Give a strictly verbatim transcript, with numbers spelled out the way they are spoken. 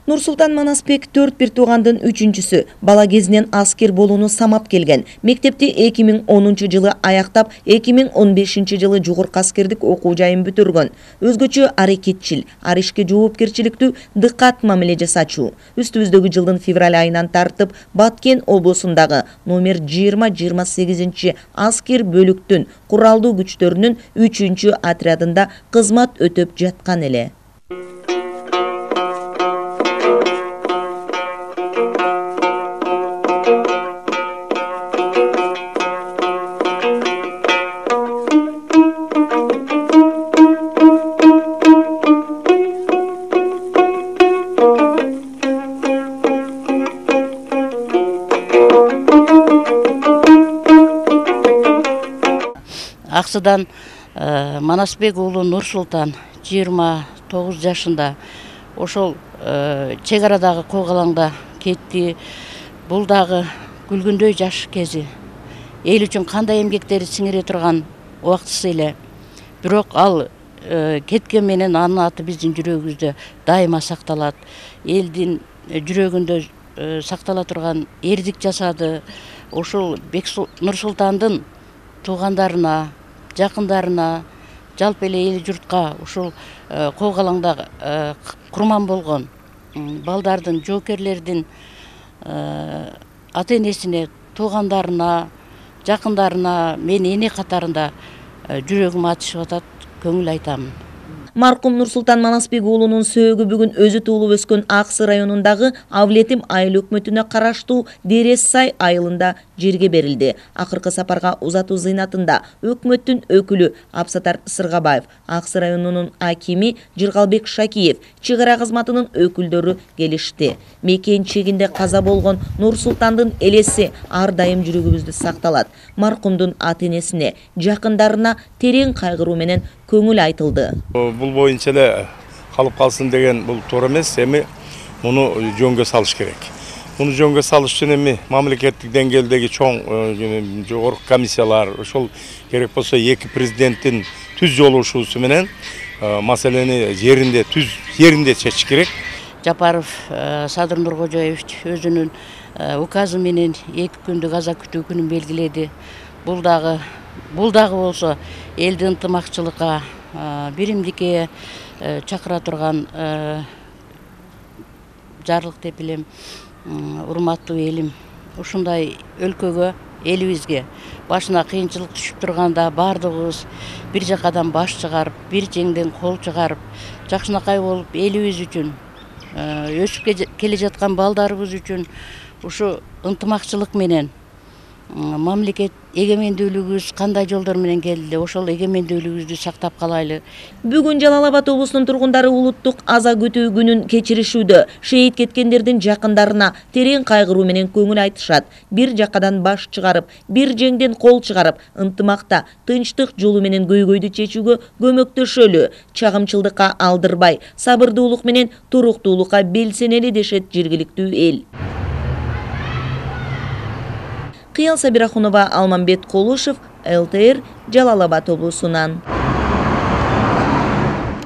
Нурсултан Манасбек төрт бир туугандын үчүнчүсү. Бала кезинен аскер болууну самап келген. Мектепти эки миң онунчу жылы аяктап, эки миң он бешинчи жылы жогорку аскердик окуу жайын бүтүргөн. Өзгөчө аракетчил, ар ишке жоопкерчиликтүү, дыкат мамиле жасачу. Үстүбүздөгү жылдын февраль айынан тартып Баткен облусундагы номер жыйырма жыйырма сегизинчи аскер бөлүктүн куралдуу күчтөрүнүн үчүнчү отрядында кызмат өтөп жаткан эле. Аксыдан Манасбек уулу Нурсултан жыйырма тогуз жашында ошол чек арадагы койгалаңда кетти. Бул дагы күлгүндөй жаш кези. Эл үчүн кандай эмгектери сиңире турган убактысы эле. Бирок ал кеткен менен анын аты биздин жүрөгүбүздө дайыма сакталат. Элдин жүрөгүндө сактала турган эрдик жасады. Ошол Нурсултандын туугандарына, жакындарына, жалпы эле эл журтка ушул койгалаңда курман болгон балдардын, жоокерлердин ата энесине, туугандарына, жакындарына мен эне катарында жүрөгүм ачышып атат, көңүл айтамын. Маркум Нурсултан Манасбек уулунун сөөгү бүгүн өзү туулуп өскөн Аксы районундагы Авлетим айыл өкмөтүнө караштуу Дерес Сай айылында жерге берилди. Акыркы сапарга узатуу зыйнатында өкмөттүн өкүлү Абсатар Сыргабаев, Аксы районунун акими Жыргалбек Шакиев, чек ара кызматынын өкүлдөрү келишти. Мекен чегинде каза болгон Нурсултандын элеси ар дайым жүрөгүбүздө сакталат. Маркумдун ата энесине, жакындарына терең кайгыруу менен көңүл айтылды. Бул боюнча эле калып калсын деген бул туура эмес, эми муну жөнгө салыш керек. Муну жөнгө салыш үчүн эми мамлекеттик деңгээлдеги чоң жогорку комиссиялар, ошол керек болсо эки президенттин түз жолугушуусу менен маселени жеринде түз жеринде чечиш керек. Жапаров Садыр Нуркожоевич өзүнүн указы менен эки күндүк аза күтүү күнүн белгиледи. Бул дагы бул дагы болсо элди ынтымакчылыкка, биримдикке чакыра турган жарлык деп билем. Урматтуу элим, ушундай өлкөгө, элибизге башына кыйынчылык түшүп турганда бардыгыбыз бир жакадан баш чыгарып, бир жеңден кол чыгарып, жакшынакай болуп элибиз үчүн, өсүп келе жаткан балдарыбыз үчүн ушу ынтымакчылык менен мамлекет эгемендүүлүгүбүз кандай жолдор менен келди, ошол эгемендүүлүгүбүздү сактап калайлы. Бүгүн Жалал Абад облусунун тургундары улуттук аза күтүү күнүн кечиришүүдө. Шейит кеткендердин жакындарына терең кайгыруу менен көңүл айтышат. Бир жакадан баш чыгарып, бир жеңден кол чыгарып, ынтымакта, тынчтык жолу менен көйгөйдү чечүүгө көмөктөшөлү. Чагымчылдыкка алдырбай, сабырдуулук менен туруктуулукка белсенели дешет жергиликтүү эл. Кыял Сабирахунова, Алмамбет Колушев, эл тэ эр, Жалал Абад облусунан.